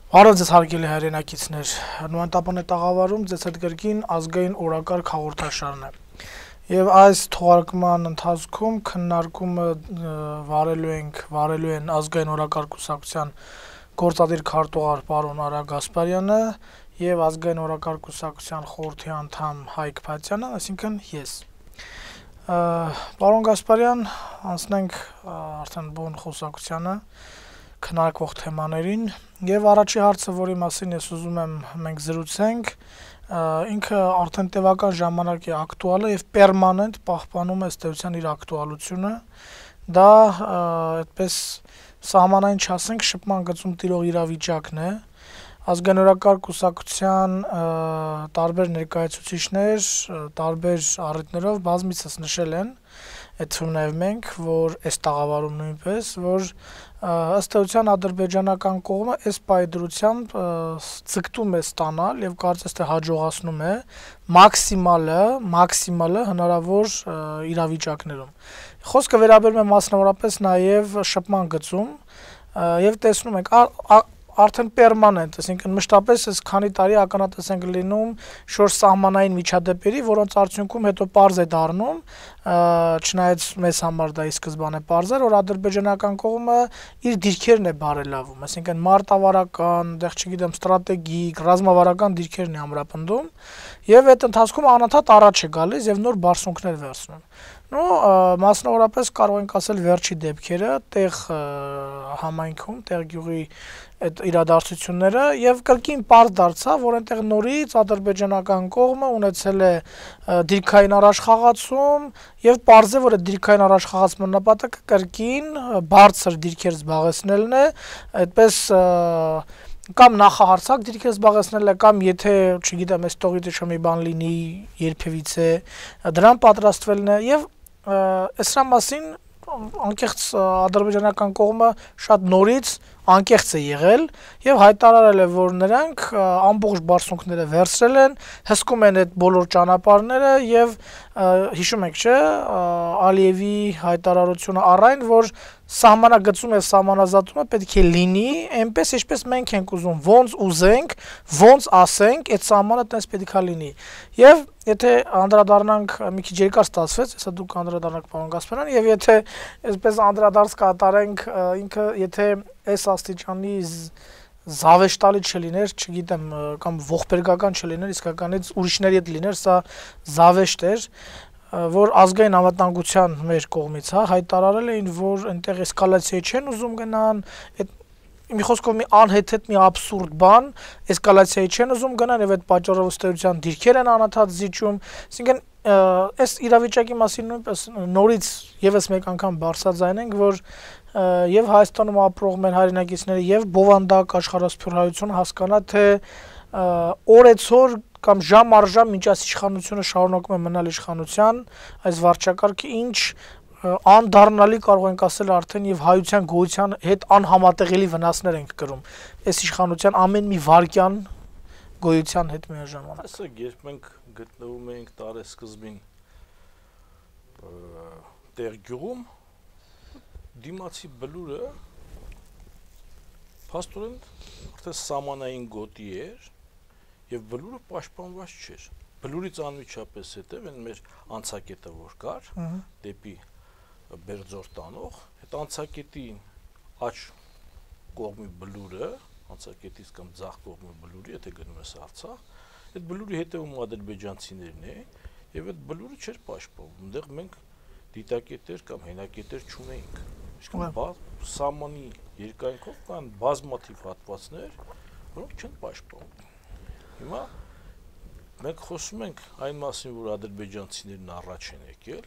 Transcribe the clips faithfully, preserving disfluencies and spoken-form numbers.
Բարև ձեզ հարգելի հայրենակիցներ, նույնտապան է տաղավարում ձեզ հետ գրքին ազգային օրակարգ հաղորդաշարն է։ Եվ այս թողարկման ընթացքում քննարկումը վարելու ենք, վարելու են ազգային օրակարգ կուսակցության գործադիր քարտուղար պարոն Արա Գասպարյանը եւ ազգային օրակարգ կուսակցության խորհրդի անդամ Հայկ Փաթյանը, այսինքն ես։ Պարոն Գասպարյան, անցնենք արդեն բուն խոսակցությանը քննարկվող թեմաներին եւ առաջի հարցը, որի մասին ես ուզում եմ մենք զրուցենք, ինքը արդեն տևական ժամանակ է ակտուալ է եւ պերմանենտ պահպանում է ըստեյության իր ակտուալությունը, դա այդպես սահմանային չասենք շփման գծում տիրող իրավիճակն է, ազգային օրակարգ կուսակցության տարբեր ներկայացուցիչներ, տարբեր առիթներով բազմիցս նշել են, այդ թվում նաեւ մենք, որ այս տաղավարում նույնպես, որ ըստ էության ադրբեջանական կողմը այս պայդրությամբ ցկտում է ստանալ եւ կարծես թե հաջողացնում է մաքսիմալը, մաքսիմալը հնարավոր իրավիճակներում։ Խոսքը վերաբերում է մասնավորապես նաեւ շփման գծում եւ տեսնում ենք արդեն պերմանենտ, այսինքն մշտապես այս քանի տարի ականատես ենք լինում շուրջ սահմանային միջադեպերի, որոնց արդյունքում հետո պարզ է դառնում, չնայած մեզ համար դա ի սկզբանե պարզ էր, որ ադրբեջանական կողմը իր դիրքերն է բարելավում, այսինքն մարտավարական, դեռ չգիտեմ, ստրատեգիկ, ռազմավարական դիրքերն է ամրապնդում եւ այդ ընթացքում անընդհատ առաջ է գալիս եւ նոր բարձունքներ վերցնում։ Ну, մասնավորապես կարող ենք ասել վերջի դեպքերը, տեղ համայնքում, տեղ գյուղի այդ իրադարձությունները եւ կրկին պարզ դարձավ, որ այնտեղ նորից ադրբեջանական կողմը ունեցել է դիրքային առաջխաղացում եւ պարզ է, որ այդ դիրքային առաջխաղացման նպատակը կրկին բարձր դիրքեր զբաղեցնելն է, այդպես կամ նախահարցակ դիրքեր զբաղեցնելը կամ եթե, չգիտեմ, այս տողից ինչ մի բան լինի երբևիցե, դրան պատրաստվելն է եւ Այսրա մասին անկեղծ ադրբեջանական կողմը շատ նորից անկեղծ է եղել եւ հայտարարել է, որ նրանք ամբողջ բարձունքները վերցրել են, հսկում են այդ բոլոր ճանապարհները եւ հիշում եք, չէ, Ալիևի հայտարարությունը առայն, որ սահմանագծում եւ սահմանազատումը պետք է լինի այնպես, ինչպես մենք ենք ուզում, ոնց ուզենք, ոնց ասենք, այդ սահմանը տես պետք է լինի։ Եվ եթե անդրադառնանք մի քիչ երկար ստացվեց, հեսա դուք անդրադառնաք պարոն Գասպարյան, եւ եթե այսպես անդրադարձ կատարենք, ինքը եթե այս աստիճանի զավեշտալի չլիներ, չգիտեմ, կամ ողբերգական չլիներ, իսկականից ուրիշների հետ լիներ, սա զավեշտ էր, որ ազգային անվտանգության մեր կողմից, հա, հայտարարել էին, որ այնտեղ էսկալացիայի չեն ուզում գնան, այդ մի խոսքով մի անհեթեթ մի աբսուրդ բան, էսկալացիայի չեն ուզում գնան եւ այդ պատճառով ըստեյության դիրքեր են անընդհատ զիջում, այսինքն այս իրավիճակի մասին նույնպես նորից եւս մեկ անգամ բարձրաձայնենք, որ եւ Հայաստանում ապրող մեր հայրենակիցները եւ բովանդակ աշխարհասփյուր հայությունը հասկանա, թե օրեցօր կամ ժամ առ ժամ ինչ այս իշխանությունը շարունակում է մնալ իշխանության, այս վարչակարգը ինչ անդառնալի կարող ենք ասել արդեն եւ հայության գոյության հետ անհամատեղելի վնասներ ենք կրում այս իշխանության ամեն մի վարքյան գոյության հետ միաժամանակ։ Ասեք, երբ մենք գտնվում ենք տարեսկզբին տեղ գյուղում, դիմացի բլուրը փաստորեն արդեն սահմանային գոտի էր եւ բլուրը պաշտպանված չէր։ Բլուրից անմիջապես հետեւ այն մեր անցակետը որ կար, դեպի Բերձոր տանող, այդ անցակետի աջ կողմի բլուրը, անցակետից կամ ձախ կողմի բլուրի, եթե գնում ես Արցախ, այդ բլուրի հետևում ադրբեջանցիներն է եւ այդ բլուրը չէր պաշտպանվում։ Այնտեղ մենք դիտակետեր կամ հենակետեր չունեինք։ Այսինքն սահմանի երկայնքով կան բազմաթիվ հատվածներ, որոնք չեն պաշտպանվում։ Հիմա մենք խոսում ենք այն մասին, որ ադրբեջանցիներն առաջ են եկել,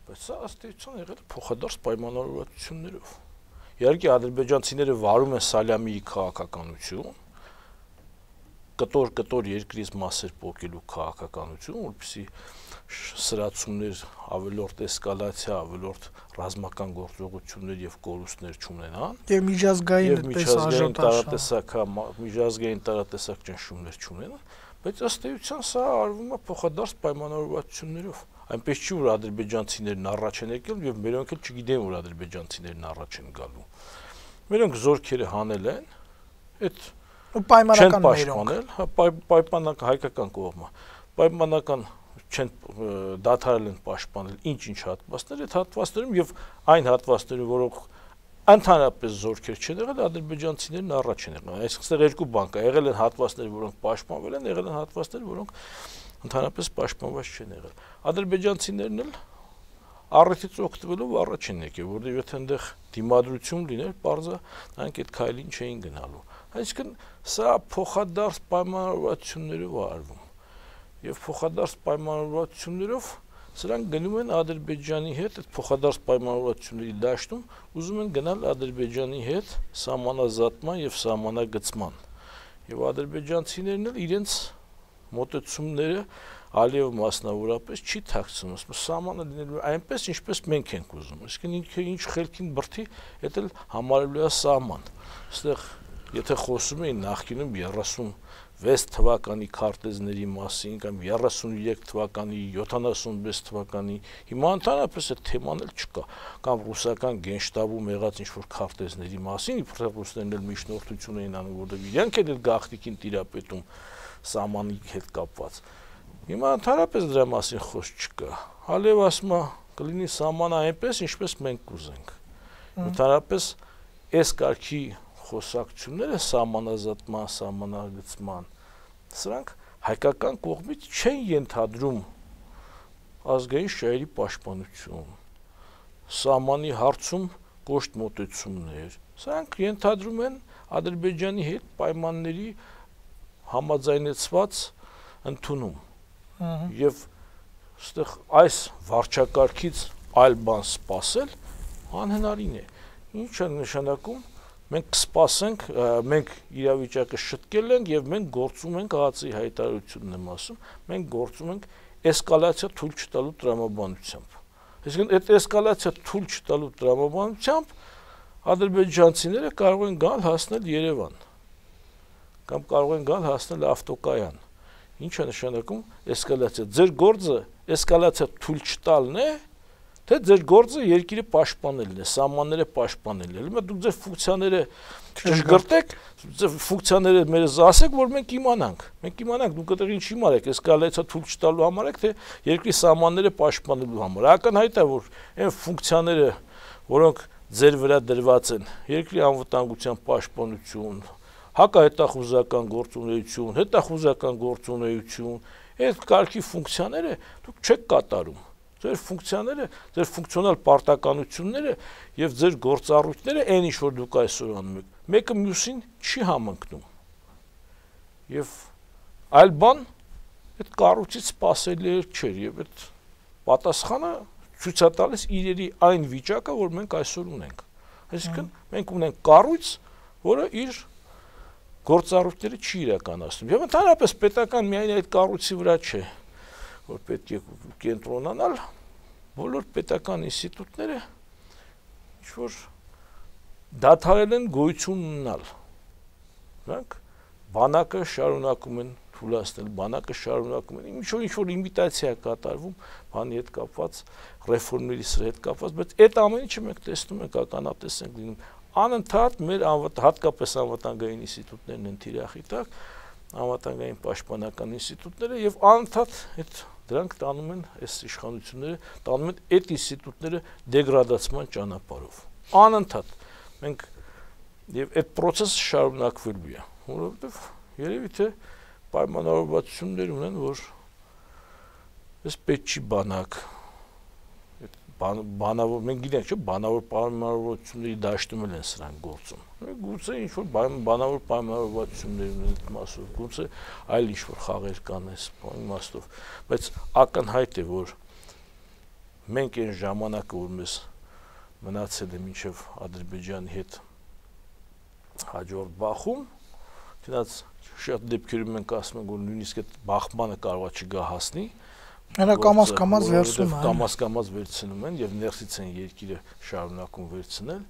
բայց սա ըստ էության եղել է փոխադարձ պայմանավորվածություններով։ Իհարկե ադրբեջանցիները վարում են Սալյամիի քաղաքականություն, կտոր-կտոր երկրից մասեր պոկելու քաղաքականություն, որպեսզի սրացումներ, ավելորդ էսկալացիա, ավելորդ ռազմական գործողություններ եւ կորուստներ չունենան, եւ միջազգային այդպես տարատեսակ, միջազգային տարատեսակ ճնշումներ չունենան, բայց ըստ էության սա արվում է փոխադարձ պայմանավորվածություններով։ Այնպես չի, որ ադրբեջանցիներն առաջ են եկել եւ մերոնք էլ չգիտեն, որ ադրբեջանցիներն առաջ են գալու։ Մերոնք զորքերը հանել են, այդ ու պայմանական պաշտպանել, հա պայմանական հայկական կողմը, պայմանական չեն դադարել են պաշտպանել ինչ-ինչ հատվածներ, այդ հատվածներում եւ այն հատվածները, որոնք ընդհանրապես զորքեր չեն եղել, ադրբեջանցիներն առաջ են եղել։ Այսինքն երկու բան կա, եղել են հատվածներ, որոնք պաշտպանվել են, եղել են հատվածներ, որոնք ընդհանրապես պաշտպանված չեն եղել։ Ադրբեջանցիներն էլ առիթից օգտվելով առաջ են եկել, որովհետեւ եթե այնտեղ դիմադրություն լիներ, բարձա նրանք այդ քայլին չէին գնալու։ Այսինքն սա փոխադարձ պայմանավորվածություններով է արվում։ Եվ փոխադարձ պայմանավորվածություններով սրանք գնում են Ադրբեջանի հետ, այդ փոխադարձ պայմանավորվածությունների դաշտում ուզում են գնալ Ադրբեջանի հետ սահմանազատման եւ սահմանագծման։ Եվ ադրբեջանցիներն էլ իրենց մոտեցումները Ալիև մասնավորապես չի թաքցնում, սահմանը լինելու այնպես, ինչպես մենք ենք ուզում։ Իսկն ինքը ինչ խելքին բրդի, դա էլ համարելու է սահման։ Այստեղ եթե խոսում էին նախկինում երեսունվեց թվականի քարտեզների մասին կամ երեսունուերեք թվականի, յոթանասունվեց թվականի, հիմա ընդհանրապես այդ թեման էլ չկա, կամ ռուսական գենշտաբում եղած ինչ-որ քարտեզների մասին, իբրև ռուսներն էլ միջնորդություն էին անում, որովհետև իրենք էլ գաղտնիքին տիրապետում սահմանի հետ կապված։ Հիմա ընդհանրապես դրա մասին խոսք չկա։ Ալիև ասում է կլինի սահմանը այնպես, ինչպես մենք կուզենք։ Ընդհանրապես այս կարգի խոսակցությունները սահմանազատման, սահմանագծման, սրանք հայկական կողմից չեն ենթադրում ազգային շահերի պաշտպանություն, սահմանի հարցում կոշտ մոտեցումներ, սրանք ենթադրում են Ադրբեջանի հետ պայմանների համաձայնեցված ընդունում։ Եվ այստեղ այս վարչակարգից այլ բան սպասել անհնարին է։ Ինչ է նշանակում, մենք կսպասենք, մենք իրավիճակը շտկել ենք եւ մենք գործում ենք ԱԱԾ-ի հայտարարությունն եմ ասում, մենք գործում ենք էսկալացիա թույլ չտալու տրամաբանությամբ։ Այսինքն այդ էսկալացիա թույլ չտալու տրամաբանությամբ ադրբեջանցիները կարող են գալ հասնել Երևան կամ կարող են գալ հասնել ավտոկայան։ Ինչ է նշանակում էսկալացիա։ Ձեր գործը էսկալացիա թույլ չտալն է, թե ձեր գործը երկիրը պաշտպանելն է, սահմանները պաշտպանելն է։ Հիմա դուք ձեր ֆունկցիաները ճշգրտեք, ձեր ֆունկցիաները մեզ ասեք, որ մենք իմանանք։ Մենք իմանանք դուք այդտեղ ինչ իմարեք, էսկալացիա թույլ չտալու համար եք, թե երկրի սահմանները պաշտպանելու համար։ Ակնհայտ է, որ այն ֆունկցիաները, որոնք ձեր վրա դրված են, երկրի անվտանգության պաշտպանություն, հակահետախուզական գործունեություն, հետախուզական գործունեություն, այդ կարգի ֆունկցիաները դուք չեք կատարում։ Ձեր ֆունկցիաները, ձեր ֆունկցիոնալ պարտականությունները եւ ձեր գործառույթները այն ինչ որ դուք այսօր անում եք, մեկը մյուսին չի համընկնում։ Եվ այլ բան այդ կառույցից սпасելի չէր եւ այդ պատասխանը ցույց է տալիս իրերի այն վիճակը, որ մենք այսօր ունենք։ Այսինքն մենք ունենք կառույց, որը իր գործառույթները չի իրականացնում։ Եվ ընդհանրապես պետական միայն այդ կառույցի վրա չէ, որ պետք է կենտրոնանալ, բոլոր պետական ինստիտուտները ինչ որ դադարել են գոյություն ունենալ։ Նրանք բանակը շարունակում են թույլատնել, բանակը շարունակում են ինչ որ ինչ որ իմիտացիա կատարվում, բանի հետ կապված, ռեֆորմների հետ կապված, բայց այդ ամեն ինչը մենք տեսնում ենք, ականատես ենք լինում։ Անընդհատ մեր հատկապես անվտանգային ինստիտուտներն են թիրախի տակ, անվտանգային պաշտպանական ինստիտուտները եւ անընդհատ այդ դրանք տանում են այս իշխանությունները, տանում են այդ ինստիտուտները դեգրադացման ճանապարհով։ Անընդհատ մենք եւ այդ process-ը շարունակվելու է, որովհետեւ երևի թե պայմանավորվածություններ ունեն, որ այս պետք չի բանակ բանավոր մենք գիտենք, չէ՞, բանավոր պայմանավորվածությունների դաշտում են սրանք գործում։ Գուցե ինչ որ բանավոր պայմանավորվածություններ ունեն այդ մասով, գուցե այլ ինչ որ խաղեր կան այս իմաստով, բայց ակնհայտ է, որ մենք այն ժամանակը, որ մեզ մնացել է մինչև Ադրբեջանի հետ հաջորդ բախում, դրանց շատ դեպքերում մենք ասում ենք, որ նույնիսկ այդ բախմանը կարող է չգա հասնի, Նա կամաց-կամաց վերցնում են, կամաց-կամաց վերցնում են եւ ներսից են երկիրը շարունակում վերցնել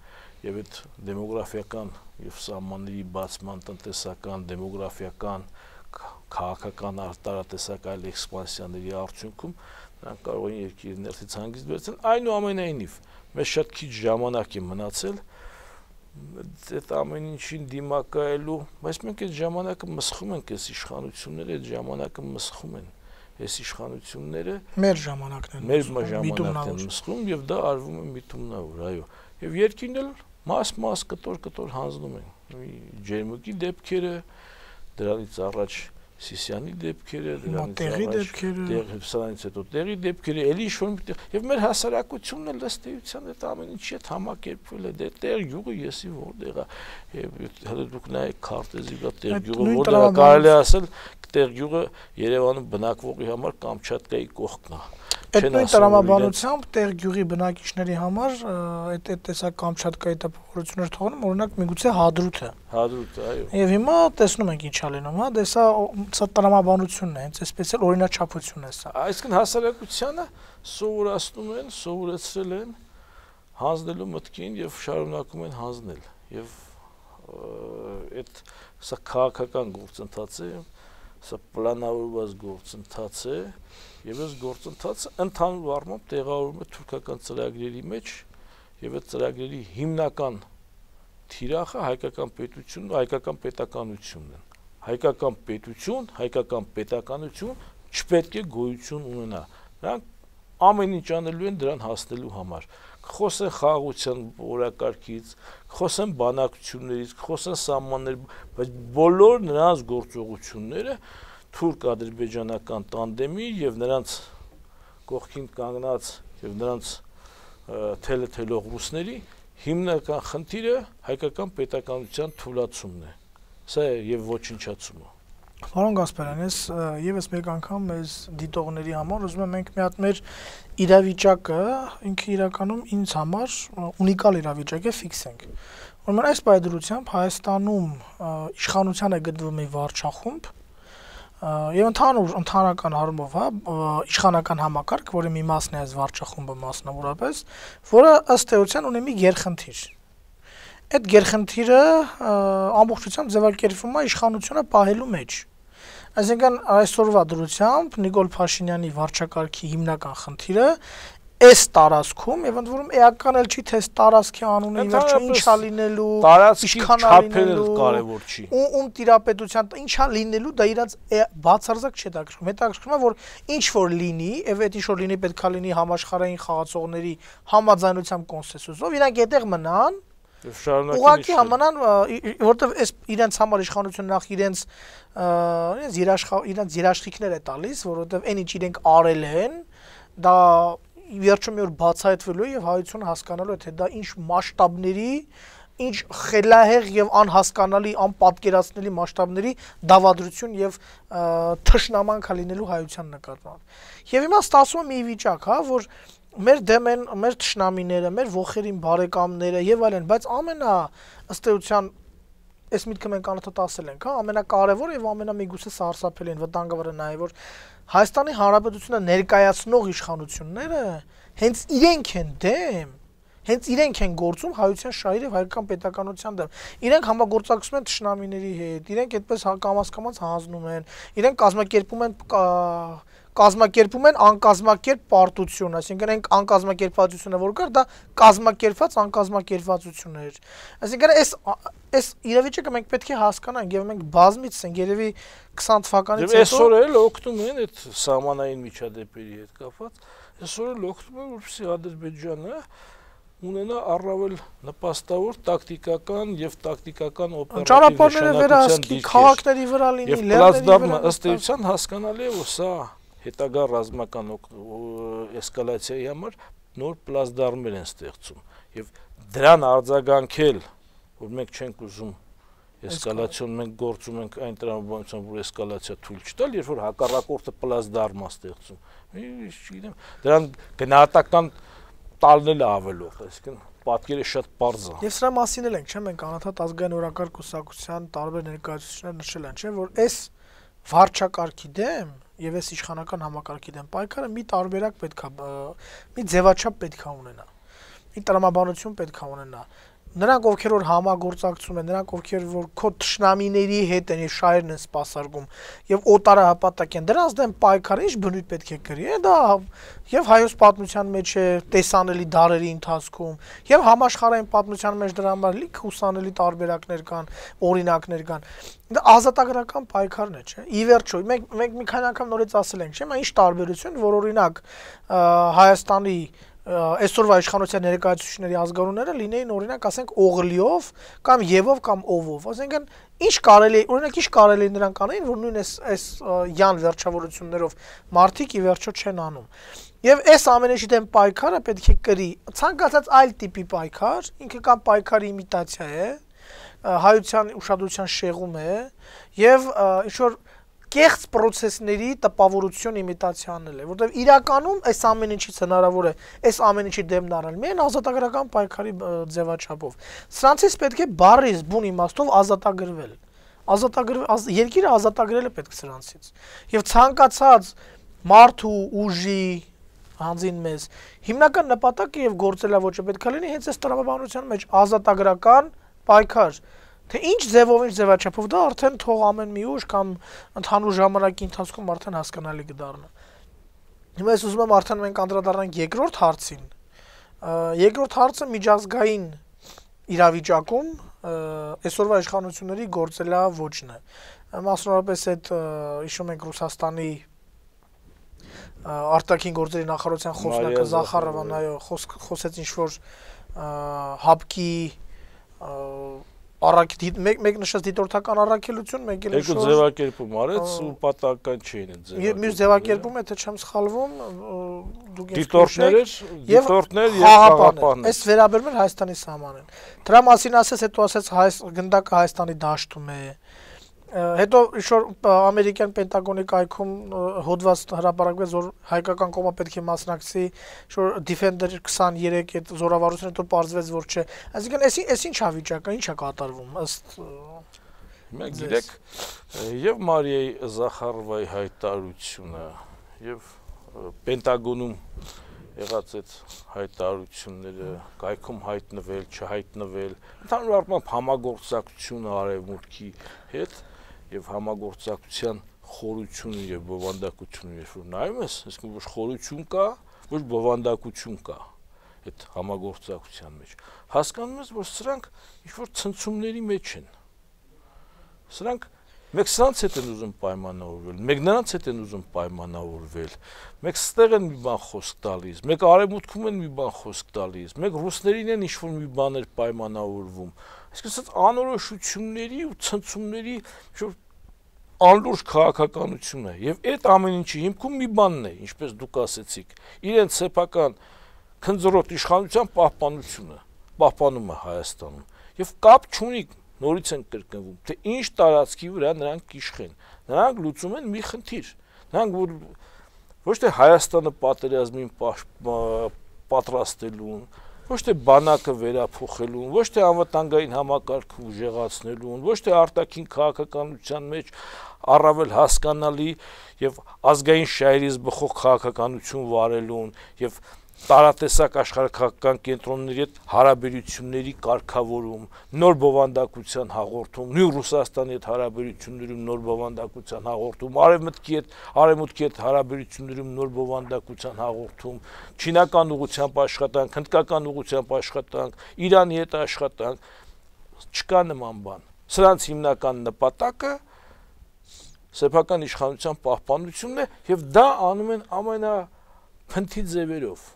եւ այդ դեմոգրաֆիական եւ սահմանների բացման տնտեսական, դեմոգրաֆիական, քաղաքական արտարատեսական էքսպանսիաների արդյունքում նրանք կարող են երկիրը ներսից հանգիստ վերցնել։ Այնուամենայնիվ, մեզ շատ քիչ ժամանակ է մնացել այդ ամեն ինչին դիմակայելու, բայց մենք այդ ժամանակը մսխում ենք, այս իշխանությունները այդ ժամանակը մսխում են, այս իշխանությունները մեր ժամանակն են, մեր ժամանակն են մսխում եւ դա արվում է միտումնավոր, այո, եւ երկին էլ մաս-մաս կտոր-կտոր հանձնում են, Ջերմուկի դեպքերը, դրանից առաջ Սիսյանի դեպքերը, դրանից առաջ հետո տեղի դեպքերը, էլի ինչ-որ եւ մեր հասարակությունն էլ ըստ էության այդ ամեն ինչի հետ համակերպվել է, դե տեղ յուղը եսի որտեղ է, եւ հələ դուք նայեք քարտեզի վրա տեղ յուղը որտեղ է, կարելի ասել տեղ յուղը Երևանում բնակվողի համար Կամչատկայի կողքն է։ Այդ նույն տրամաբանությամբ տեղ գյուղի բնակիչների համար այդ այդ տեսակ Կամչատկայի տպավորություններ թողնում, օրինակ միգուցե Հադրութը։ Հադրութը, այո։ Եվ հիմա տեսնում ենք ինչա լինում, հա, դե սա սա տրամաբանությունն է, հենց այսպես էլ օրինաչափություն է սա։ Այսինքն հասարակությանը սովորացնում են, սովորեցրել են հանձնելու մտքին եւ շարունակում են հանձնել։ Եվ այդ սա քաղաքական գործընթաց է, սա պլանավորված գործընթաց է, եւ այս գործընթացը ընդհանուր առմամբ տեղավորվում է թուրքական ծրագրերի մեջ, եւ այդ ծրագրերի հիմնական թիրախը հայկական պետությունն ու հայկական պետականությունն են։ Հայկական պետություն, հայկական պետականություն չպետք է գոյություն ունենա։ Նրանք ամեն ինչ անելու են դրան հասնելու համար։ Խոսեն խաղաղության օրակարգից, խոսեն բանակցություններից, խոսեն սահմաններ, բայց բոլոր նրանց գործողությունները թուրք-ադրբեջանական տանդեմի եւ նրանց կողքին կանգնած եւ նրանց թելը-թելող ռուսների հիմնական խնդիրը հայկական պետականության թուլացումն է։ Սա է եւ ոչնչացումը։ Պարոն Գասպարյան, ես եւս մեկ անգամ մեզ դիտողների համար ուզում եմ մենք մի հատ մեր իրավիճակը ինքը իրականում ինձ համար ունիկալ իրավիճակ է ֆիքսենք։ Ուրեմն այս պայդրությամբ Հայաստանում իշխանության է գտնվում մի վարչախումբ եւ ընդհանուր ընդհանրական առումով, հա, իշխանական համակարգ, որի մի մասն է այս վարչախումբը մասնավորապես, որը ըստ էության ունի մի գերխնդիր։ Այդ գերխնդիրը ամբողջությամբ ձևակերպվում է իշխանությունը պահելու մեջ։ Այսինքն այսօրվա դրությամբ Նիկոլ Փաշինյանի վարչակարգի հիմնական խնդիրը այս տարածքում եւ ընդ որում էական էլ չի թե այս տարածքի անունը ի վերջո ինչա լինելու, տարածքի չափերը կարեւոր չի։ Ում տիրապետության ինչա լինելու, դա իրանց բացարձակ չի հետաքրքրում։ Հետաքրքրում է, որ ինչ որ լինի, եւ այդ ինչ որ լինի պետքա լինի համաշխարհային խաղացողների համաձայնությամբ կոնսենսուսով, իրանք այդտեղ մնան։ Ուղղակի համանան, որովհետև այս իրենց համար իշխանությունը նախ իրենց իրենց երաշխ իրենց երաշխիքներ է տալիս, որովհետև այն ինչ իրենք արել են, դա վերջում մի օր բացահայտվելու է եւ հայությունը հասկանալու է թե դա ինչ մասշտաբների, ինչ խելահեղ եւ անհասկանալի, անպատկերացնելի մասշտաբների դավադրություն եւ թշնամանք լինելու հայության նկատմամբ։ Եվ հիմա ստացվում է մի վիճակ, հա, որ մեր դեմ են մեր թշնամիները, մեր ոխերին բարեկամները եւ այլն, բայց ամենա ըստ էության այս միտքը մենք անընդհատ ասել ենք, հա, ամենակարևորը եւ ամենամիգուցե սարսափելին վտանգավորը նա է, որ Հայաստանի Հանրապետությունը ներկայացնող իշխանությունները հենց իրենք են դեմ, հենց իրենք են գործում հայության շահերի եւ հայկական պետականության դեմ։ Իրենք համագործակցում են թշնամիների հետ, իրենք այդպես կամաց-կամաց հանձնում են, իրենք կազմակերպում են կազմակերպում են անկազմակերպ պարտություն, այսինքն այն անկազմակերպվածությունը, որ կար, դա կազմակերպված անկազմակերպվածություն էր։ Այսինքն այս այս իրավիճակը մենք պետք է հասկանանք եւ մենք բազմից ենք երևի քսան թվականից հետո։ Այսօր էլ օգտվում են այդ սահմանային միջադեպերի հետ կապված, այսօր էլ օգտվում են, որպեսզի Ադրբեջանը ունենա առավել նպաստավոր տակտիկական եւ տակտիկական օպերատիվ նշանակության քաղաքների վրա լինի, լեռների վրա։ Ըստ էության հասկանալի է, որ սա հետագա ռազմական էսկալացիայի համար նոր պլազդարմեր են ստեղծում եւ դրան արձագանքել, որ մենք չենք ուզում էսկալացիոն, մենք գործում ենք այն տրամաբանությամբ, որ էսկալացիա թույլ չտալ, երբ որ հակառակորդը պլազդարմ է ստեղծում։ Չգիտեմ, դրան գնահատական տալն էլ ավելով, այսինքն պատկերը շատ պարզ է։ Եվ սրա մասին էլ ենք, չէ՞, մենք անընդհատ ազգային օրակարգ կուսակցության տարբեր ներկայացուցիչներ նշել են, չէ՞, որ այս վարչակարգի դեմ եւ այս իշխանական համակարգի դեմ պայքարը մի տարբերակ պետքա, մի ձևաչափ պետքա ունենա, մի տրամաբանություն պետքա ունենա։ նրանք ովքեր որ համագործակցում են, նրանք ովքեր որ քո թշնամիների հետ են, շահերն են սպասարկում եւ օտարահպատակ են, դրանց դեմ պայքարը ինչ բնույթ պետք է կրի, դա եւ հայոց պատմության մեջ է տեսանելի դարերի ընթացքում, եւ համաշխարհային պատմության մեջ դրա համար լիք հուսանելի տարբերակներ կան, օրինակներ կան։ Դա ազատագրական պայքարն է, չէ՞։ Ի վերջո, մենք մենք մի քանի անգամ նորից ասել ենք, չէ՞, ինչ տարբերություն, որ օրինակ Հայաստանի այսօրվա իշխանության ներկայացուցիչների ազգանունները լինեին օրինակ ասենք Օղլիով կամ Եվով կամ Օվով, ասենքն ինչ կարելի է, օրինակ ինչ կարելի է նրանք անեին, որ նույն այս այս յան վերջավորություններով մարդիկ ի վերջո չեն անում։ Եվ այս ամենի դեմ պայքարը պետք է կրի ցանկացած այլ տիպի պայքար, ինքը կամ պայքարի իմիտացիա է, հայության ուշադրության շեղում է եւ ինչ որ կեղծ process-ների տպավորություն իմիտացիանել է, որտեղ իրականում այս ամեն ինչից հնարավոր է այս ամեն ինչի դեմն առնել միայն ազատագրական պայքարի ձևաչափով։ Սրանցից պետք է բառից բուն իմաստով ազատագրվել։ Ազատագրվել երկիրը ազատագրել է պետք սրանցից։ Եվ ցանկացած մարդու ուժի հանձին մեզ հիմնական նպատակը եւ գործելավոճը պետք է լինի հենց այս տրամաբանության մեջ ազատագրական պայքար։ Թե ինչ ձևով, ինչ ձևաչափով դա արդեն թող ամեն մի ուժ կամ ընդհանուր ժամանակի ընթացքում արդեն հասկանալի կդառնա։ Հիմա ես ուզում եմ արդեն մենք անդրադառնանք երկրորդ հարցին։ Երկրորդ հարցը միջազգային իրավիճակում այսօրվա իշխանությունների գործելավոճն է։ Մասնավորապես այդ հիշում ենք Ռուսաստանի արտաքին գործերի նախարարության խոսնակը Զախարովան, այո, խոսեց ինչ-որ հապկի Առակ մեկ մեկ նշած դիտորդական առաքելություն, մեկ էլ երկու ձևակերպում արեց ու պատահական չէին այդ ձևակերպումը։ Մյուս ձևակերպումը, եթե չեմ սխալվում, դուք դիտորդներ, դիտորդներ եւ խաղապահներ։ Այս վերաբերում էր Հայաստանի սահմանին։ Դրա մասին ասես, հետո ասեց հայ գնդակը Հայաստանի դաշտում է։ Հետո ինչ-որ ամերիկյան Պենտագոնի կայքում հոդված հրապարակվեց, որ հայկական կողմը պետք է մասնակցի, ինչ-որ Defender քսաներեք այդ զորավարությունը, հետո պարզվեց, որ չէ։ Այսինքն, այս այս ինչ է վիճակը, ինչ է կատարվում ըստ Մենք գիտեք, եւ Մարիայի Զախարովայի հայտարարությունը, եւ Պենտագոնում եղած այդ հայտարարությունները, կայքում հայտնվել, չհայտնվել, ընդհանուր առմամբ համագործակցությունը արևմուտքի հետ եւ համագործակցության խորությունը եւ բովանդակությունը, երբ որ նայում ես, այսինքն ոչ խորություն կա, ոչ բովանդակություն կա այդ համագործակցության մեջ։ Հասկանում ես, որ սրանք ինչ-որ ցնցումների մեջ են։ Սրանք մեկ սրանց հետ են ուզում պայմանավորվել, մեկ նրանց հետ են ուզում պայմանավորվել, մեկ ստեղ են մի բան խոսք տալիս, մեկ արևմուտքում են մի բան խոսք տալիս, մեկ ռուսներին են ինչ-որ մի բաներ պայմանավորվում։ Այսինքն անորոշությունների ու ցնցումների ինչ-որ անլուրջ քաղաքականություն է, եւ այդ ամեն ինչի հիմքում մի բանն է, ինչպես դուք ասեցիք, իրենց սեփական քնձռոտ իշխանության պահպանությունը, պահպանումը Հայաստանում, եւ կապ չունի նորից են կրկնվում, թե ինչ տարածքի վրա նրանք իշխեն, նրանք լուծում են մի խնդիր, նրանք ոչ թե Հայաստանը պատերազմին պատրաստելուն, ոչ թե բանակը վերափոխելուն, ոչ թե անվտանգային համակարգը ուժեղացնելուն, ոչ թե արտաքին քաղաքականության մեջ առավել հասկանալի եւ ազգային շահերից բխող քաղաքականություն վարելուն եւ տարատեսակ աշխարհակաղակական կենտրոնների հետ հարաբերությունների կարգավորում, նոր բովանդակության հաղորդում, նույն Ռուսաստանի հետ հարաբերություններում նոր բովանդակության հաղորդում, արևմուտքի հետ արևմուտքի հետ հարաբերություններում նոր բովանդակության հաղորդում, չինական ուղղությամբ աշխատանք, հնդկական ուղղությամբ աշխատանք, Իրանի հետ աշխատանք, չկա նման բան։ Սրանց հիմնական նպատակը սեփական իշխանության պահպանությունն է եւ դա անում են ամենափնթի ձևերով։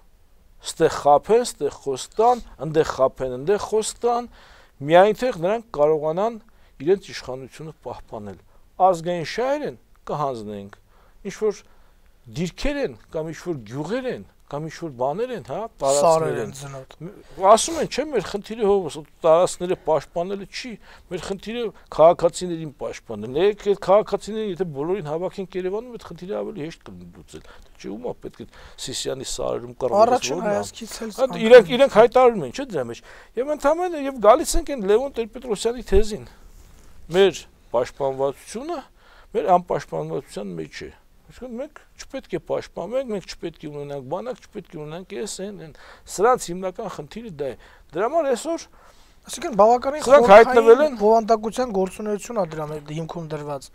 Ստեղ խափեն, ստեղ խոստան, ընդեղ խափեն, ընդեղ խոստան, միայն թե նրանք կարողանան իրենց իշխանությունը պահպանել։ Ազգային շահեր են, կհանձնենք, ինչ-որ դիրքեր են, կամ ինչ-որ գյուղեր են, կամ ինչ-որ բաներ են, հա, տարածքներ են։ Ասում են, չէ, մեր խնդիրը հովս տարածքները պաշտպանելը չի, մեր խնդիրը քաղաքացիներին պաշտպանելն է։ Այդ քաղաքացիներին, եթե բոլորին հավաքենք Երևանում, այդ խնդիրը ավելի հեշտ կլինի լուծել։ Չէ, ումա պետք է Սիսիանի սարերում կռվի։ Առաջին հայացքից էլ իրենք իրենք հայտարարում են, չէ՞ դրա մեջ։ Եվ ընդհանրապես եւ գալիս ենք այն Լևոն Տեր-Պետրոսյանի թեզին։ Մեր պաշտպանվածությունը մեր անպաշտպանվածության մեջ է։ Այսինքն մենք չպետք է պաշտպանենք, մենք չպետք է ունենանք բանակ, չպետք է ունենանք էս այն, այն։ Սրանց հիմնական խնդիրը դա է։ Դրա համար այսօր Այսինքն բավականին Սրանք հայտնվել են բովանդակության գործունեություն է դրա հիմքում դրված։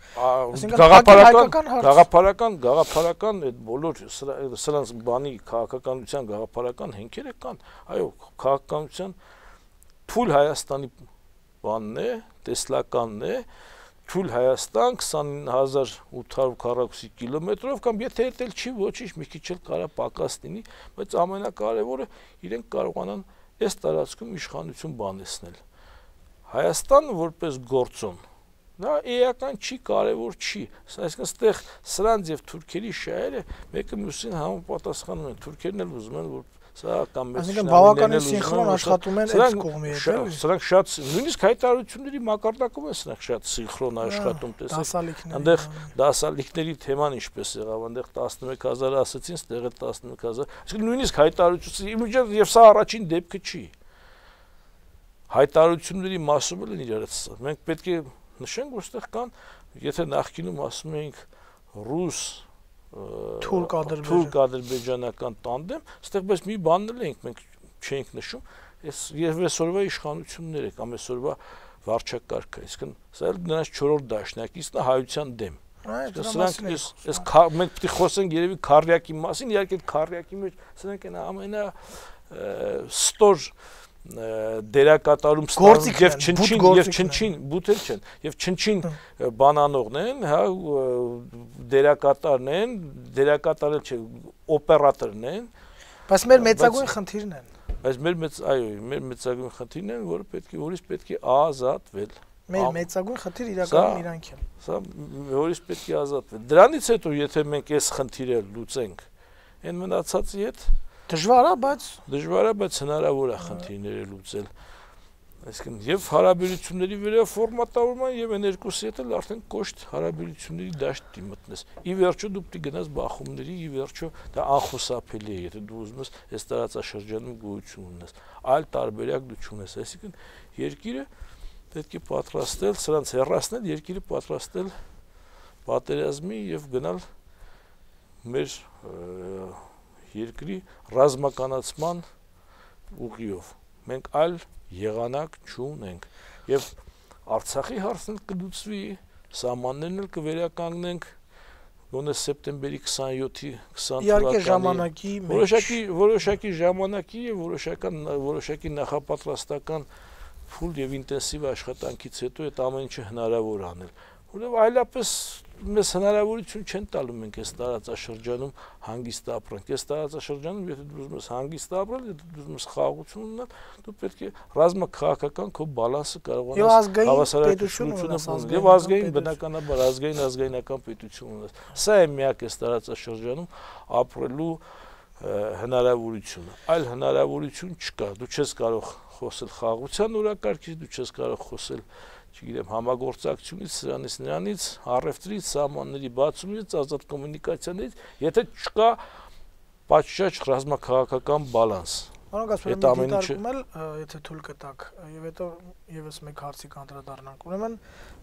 Գաղափարական, գաղափարական, գաղափարական այդ բոլոր սրանց բանի քաղաքականության գաղափարական հենքերը կան։ Այո, քաղաքականության թույլ Հայաստանի բանն է, տեսլականն է, թույլ Հայաստան քսանինը հազար ութ հարյուր քառակուսի կիլոմետրով կամ եթե էլ չի ոչինչ մի քիչ էլ կարա պակաս լինի, բայց ամենակարևորը իրենք կարողանան այս տարածքում իշխանություն բանեցնել։ Հայաստանը որպես գործոն, դա էական չի, կարևոր չի, այսինքն այստեղ սրանց եւ թուրքերի շահերը մեկը մյուսին համապատասխանում են, թուրքերն էլ ուզում են, որ սա կամ մեծ շնորհիվ բավականին սինխրոն աշխատում են այս կողմի հետ։ Սրանք շատ նույնիսկ հայտարարությունների մակարդակում են սրանք շատ սինխրոն աշխատում, տեսեք։ Այնտեղ դասալիքների թեման ինչպես եղավ, այնտեղ տասնմեկ հազար ասացին, ստեղ էլ տասնմեկ հազար։ Այսինքն նույնիսկ հայտարարությունների իմիջիատ եւ սա առաջին դեպքը չի։ Հայտարարությունների մասում էլ են իրարից։ Մենք պետք է նշենք, որ ստեղ կան, եթե նախկինում ասում էինք ռուս թուրք-ադրբեջանական տանդեմ, ստեղ բայց մի բանն էլ ենք մենք չենք նշում, այս եւ այսօրվա իշխանությունները կամ այսօրվա վարչակարգը, այսինքն սա էլ նրանց չորրորդ դաշնակիցն է հայության դեմ։ Սրանք այս մենք պետք է խոսենք երևի քարյակի մասին, իհարկե քարյակի մեջ սրանք են ամենա ստոր դերակատարում ստանում եւ չնչին եւ չնչին բութել չեն եւ չնչին բանանողն են, հա, դերակատարն են, դերակատարել չէ, օպերատորն են, բայց մեր մեծագույն խնդիրն են։ Բայց մեր մեծ, այո, մեր մեծագույն խնդիրն են, որը պետք է որից պետք է ազատվել։ Մեր մեծագույն խնդիր իրականում իրանք են։ Սա որից պետք է ազատվել։ Դրանից հետո եթե մենք այս խնդիրը լուծենք, այն մնացածի հետ դժվար է, բայց դժվար է, բայց հնարավոր է խնդիրները լուծել։ Այսինքն եւ հարաբերությունների վերաֆորմատավորման եւ այն երկուսի հետ էլ արդեն կոշտ հարաբերությունների դաշտի մտնես։ Ի վերջո դու պետք է գնաս բախումների, ի վերջո դա անխուսափելի է, եթե դու ուզում ես այս տարածաշրջանում գոյություն ունես։ Այլ տարբերակ դու չունես, այսինքն երկիրը պետք է պատրաստել, սրանց հեռացնել, երկիրը պատրաստել պատերազմի եւ գնալ մեր երկրի ռազմականացման ուղիով։ Մենք այլ եղանակ չունենք եւ Արցախի հարցն էլ կլուծվի, սահմաններն էլ կվերականգնենք գոնե սեպտեմբերի քսանյոթի քսան իհարկե ժամանակի որոշակի որոշակի ժամանակի եւ որոշական որոշակի նախապատրաստական փուլ եւ ինտենսիվ աշխատանքից հետո այդ ամեն ինչը հնարավոր անել։ Որովհետեւ այլապես մեզ հնարավորություն չեն տալու մենք այս տարածաշրջանում հանգիստ ապրենք։ Այս տարածաշրջանում եթե դու ուզում ես հանգիստ ապրել, եթե դու ուզում ես խաղաղություն ունենալ, դու պետք է ռազմաքաղաքական քո բալանսը կարողանաս հավասարակշռությունը եւ ազգային բնականաբար ազգային ազգայնական պետություն ունենաս։ Սա է միակ այս տարածաշրջանում ապրելու հնարավորությունը։ Այլ հնարավորություն չկա։ Դու չես կարող խոսել խաղաղության օրակարգից, դու չես կարող խոսել չգիտեմ, համագործակցությունից, սրանից նրանից, առևտրից, սահմանների բացումից, ազատ կոմունիկացիաներից, եթե չկա պատշաճ ռազմաքաղաքական բալանս։ Պարոն Գասպարյան, դիտարկում էլ, եթե թույլ կտաք, եւ հետո եւս մեկ հարցի կանդրադառնանք։ Ուրեմն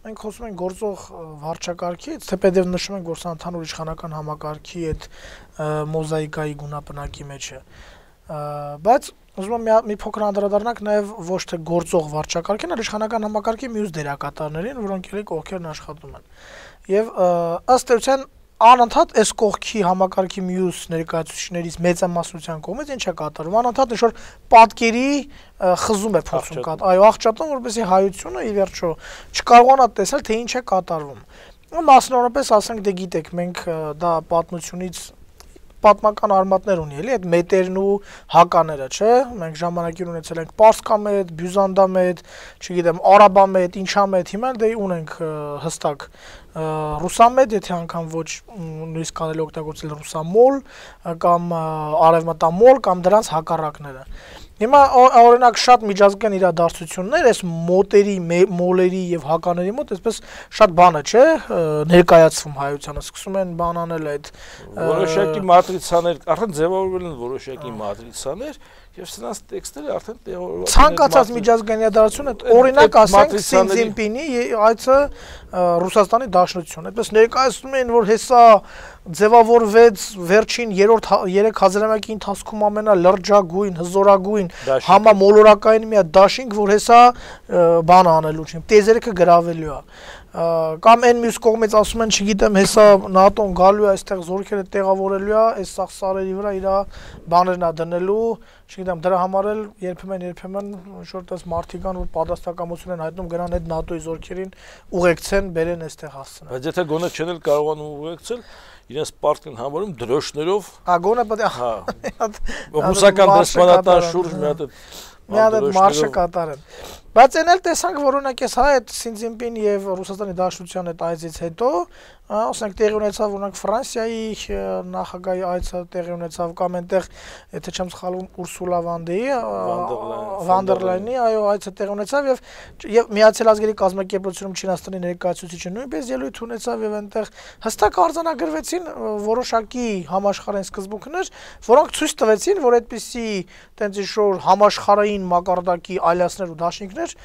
մենք խոսում ենք գործող վարչակարգից, թեպետ նշում ենք, որ սա ընդհանուր իշխանական համակարգի այդ մոզաիկայի գունապնակի մեջ է։ Բայց ուզում եմ մի փոքր անդրադառնանք նաև ոչ թե գործող վարչակարգին, այլ իշխանական համակարգի մյուս դերակատարներին, որոնք էլի կողքերն աշխատում են։ Եվ ըստ էության անընդհատ այս կողքի համակարգի մյուս ներկայացուցիչներից մեծամասնության կողմից ինչ է կատարվում, անընդհատ ինչ-որ պատկերի խզում է փորձում կատարել, այո, աղճատում, որպեսզի հայությունը ի վերջո չկարողանա տեսնել, թե ինչ է կատարվում։ Մասնավորապես ասենք, դե գիտեք, մենք դա պատմությունից պատմական արմատներ ունի, էլի, այդ մետերն ու հակաները, չէ՞։ Մենք ժամանակին ունեցել ենք Պարսկամետ, Բյուզանդամետ, չգիտեմ, Արաբամետ, ինչամետ, հիմա դե ունենք հստակ ռուսամետ, եթե անգամ ոչ նույնիսկ կարելի օգտագործել ռուսամոլ կամ արևմտամոլ կամ դրանց հակառակները։ Հիմա օրինակ շատ միջազգային իրադարձություններ այս մոտերի, մոլերի եւ հակաների մոտ այսպես շատ բանը չէ ներկայացվում հայությանը, սկսում են բան անել այդ որոշակի մատրիցաներ, արդեն ձևավորվել են որոշակի մատրիցաներ եւ սրանց տեքստերը արդեն տեղավորված են։ Ցանկացած միջազգային իրադարձություն այդ օրինակ ասենք Սին Ցինպինի այցը Ռուսաստանի Դաշնություն, այդպես ներկայացնում են, որ հեսա ձևավորվեց վերջին երրորդ երեք հազարամյակի ընթացքում ամենալրջագույն, հզորագույն վերջին համամոլորակային մի դաշինք, որ հեսա բան անելու չի, տեզերքը գրավելու է։ Կամ այն մյուս կողմից ասում են, չգիտեմ, հեսա ՆԱՏՕ-ն գալու է այստեղ զորքերը տեղավորելու է, այս սաղ սարերի վրա իր բաներն է դնելու, չգիտեմ, դրա համար էլ երբեմն երբեմն ինչ-որ տես մարդիկ կան, որ պատասխանատվություն են հայտնում գնան այդ ՆԱՏՕ-ի զորքերին ուղեկցեն, բերեն այստեղ հասցնեն։ Բայց եթե գոնե չեն էլ կարողանում ուղեկցել, իրենց պարտքն համարում դրոշներով, հա, գոնե պետք է հա, ռուսական դեսպանատան շուրջ մի հատ մի հատ մարշը կատարեն։ Բայց այն էլ տեսանք, որ օրինակ էս հա այդ Սին Ցինպին եւ Ռուսաստանի Դաշնության այդ այցից հետո, ասենք տեղի ունեցավ օրինակ Ֆրանսիայի նախագահի այցը տեղի ունեցավ կամ այնտեղ, եթե չեմ սխալվում, Ուրսուլա Վանդեի, Վանդերլայնի, այո, այցը տեղի ունեցավ եւ եւ Միացյալ Ազգերի կազմակերպությունում Չինաստանի ներկայացուցիչը նույնպես ելույթ ունեցավ եւ այնտեղ հստակ արձանագրվեցին որոշակի համաշխարհային սկզբունքներ, որոնք ցույց տվեցին, որ այդպիսի տենց ինչ-որ համաշխարհային մակարդակի այլացներ ու դաշինքներ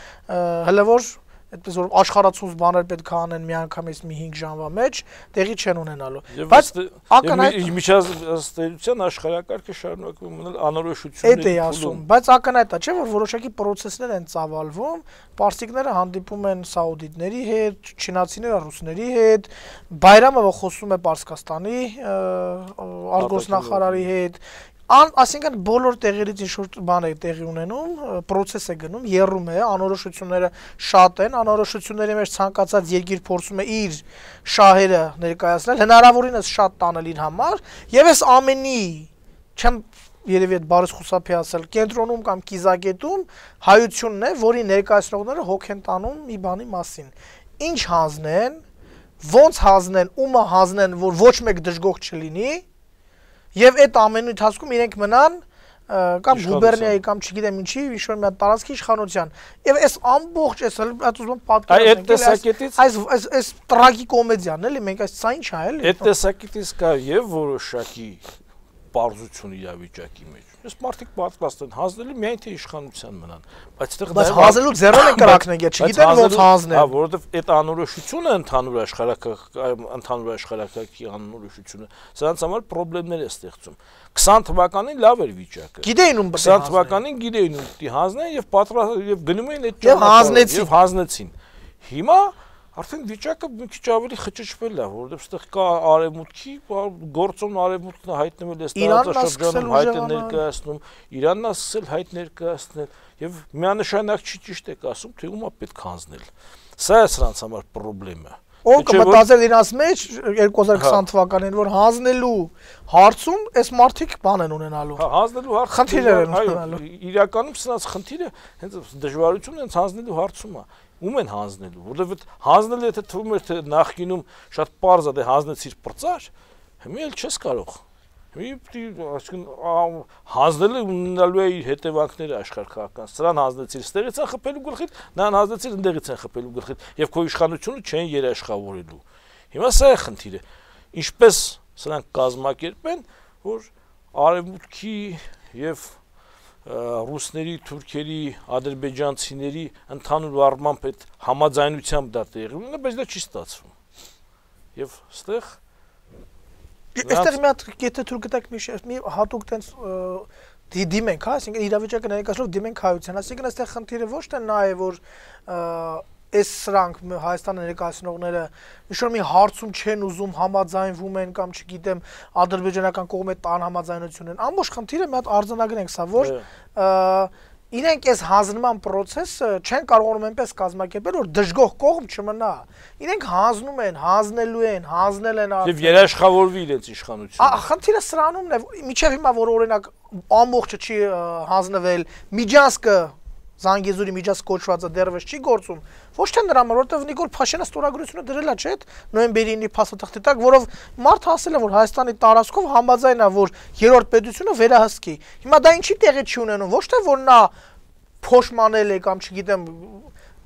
հələ որ այդպես որ աշխարհացուց բաներ պետք է անեն միանգամից մի հինգ ժամվա մեջ տեղի չեն ունենալու բայց ակնհայտ միջազգային աշխարհակարգը շարունակում մնալ անորոշությունների այդ է ասում բայց ակնհայտ է չէ որ որոշակի պրոցեսներ են ծավալվում պարսիկները հանդիպում են սաուդիտների հետ չինացիները ռուսների հետ Բայրամը խոսում է Պարսկաստանի արտգործնախարարի հետ Ան, ասինքն բոլոր տեղերից ինչ-որ բան է տեղի ունենում, պրոցես է գնում, եռում է, անորոշությունները շատ են, անորոշությունների մեջ ցանկացած երկիր փորձում է իր շահերը ներկայացնել, հնարավորինս շատ տանել իր համար, եւ այս ամենի չեմ երևի այդ բառը խուսափի ասել, կենտրոնում կամ կիզակետում հայությունն է, որի ներկայացնողները հոգ են տանում մի բանի մասին։ Ինչ հանձնեն, ոնց հանձնեն, ումը հանձնեն, որ ոչ մեկ դժգոհ չլինի Եվ այդ ամենի ընթացքում իրենք մնան կամ գուբերնիայի կամ չգիտեմ ինչի ինչ-որ մի հատ տարածքի իշխանության։ Եվ այս ամբողջ այս ուզում պատկերացնել այս այս այս տրագիկոմեդիան էլի մենք այս սա ինչ է էլի։ Այդ տեսակետից կա եւ որոշակի պարզություն իրավիճակի մեջ։ Ես մարդիկ պատկաստ են հանձնելու միայն թե իշխանության մնան, բայց այդտեղ բայց հանձնելու ձեռոն են կրակնեն, չգիտեն ոնց հանձնեն։ Հա, որովհետեւ այդ անորոշությունը ընդհանուր աշխարհակարգ ընդհանուր աշխարհակարգի անորոշությունը սրանց համար խնդիրներ է ստեղծում։ քսան թվականին լավ էր վիճակը։ Գիտեին ում քսան թվականին գիտեին ում պիտի հանձնեն եւ պատրաստ եւ գնում էին այդ ճանապարհով եւ հանձնեցին։ Հիմա Արդեն վիճակը մի քիչ ավելի խճճվել է, որովհետեւ այստեղ կա արևմուտքի գործոն արևմուտքն հայտնվել է տարածաշրջանում հայտ է ներկայացնում, Իրանն է սկսել հայտ ներկայացնել եւ միանշանակ չի ճիշտ եք ասում, թե ումա պետք հանձնել։ Սա է սրանց համար խնդրեմը։ Ով կմտածել իրաց մեջ երկու հազար քսան թվականին որ հանձնելու հարցում այս մարդիկ բան են ունենալու։ Հա, հանձնելու հարցը խնդիրներ են ունենալու։ Իրականում սրանց խնդիրը հենց դժվարությունն հենց հանձնելու հարցում է։ Ում են հանձնելու, որովհետեւ հանձնելը եթե թվում էր թե նախկինում շատ པարզ է, դե հանձնեցիր պրծար, հիմա էլ չես կարող։ Հիմա այսինքն հանձնելը ունենալու է իր հետևանքները աշխարհական։ Սրան հանձնեցիր, ստեղից են խփելու գլխիդ, նրան հանձնեցիր, ընդեղից են խփելու գլխիդ, եւ քո իշխանությունը չեն երաշխավորելու։ Հիմա սա է խնդիրը։ Ինչպես սրանք կազմակերպեն, որ արևմուտքի եւ ռուսների, թուրքերի, ադրբեջանցիների ընդհանուր առմամբ այդ համաձայնությամբ դա տեղի ունենա, բայց դա չի ստացվում։ Եվ այստեղ այստեղ մի հատ եթե թուրք գտակ մի հատուկ տենց դիմենք, հա, այսինքն իրավիճակը ներկայացնելով դիմենք հայության, այսինքն այստեղ խնդիրը ոչ թե նա է, որ այս սրանք Հայաստանը ներկայացնողները ինչ-որ մի հարցում չեն ուզում համաձայնվում են կամ չգիտեմ ադրբեջանական կողմի տան համաձայնություն են ամբողջ խնդիրը մի հատ արձանագրենք սա որ իրենք այս հանձնման process-ը չեն կարողանում այնպես կազմակերպել որ դժգոհ կողմ չմնա իրենք հանձնում են հանձնելու են հանձնել են եւ երաշխավորվի իրենց իշխանությունը խնդիրը սրանումն է միջև հիմա որ օրինակ ամբողջը չի հանձնվել միջանցքը Զանգեզուրի միջանցք կոչվածը դեռևս չի գործում ոչ թե նրա համար որովհետեւ Նիկոլ Փաշինյանը ստորագրությունը դրել է չէ՞ նոյեմբերի ինը փաստաթղթի տակ որով մարդ հասել է որ Հայաստանի տարածքով համաձայն է որ երրորդ պետությունը վերահսկի հիմա դա ինչի տեղի չի ունենում ոչ թե որ նա փոշմանել է կամ չգիտեմ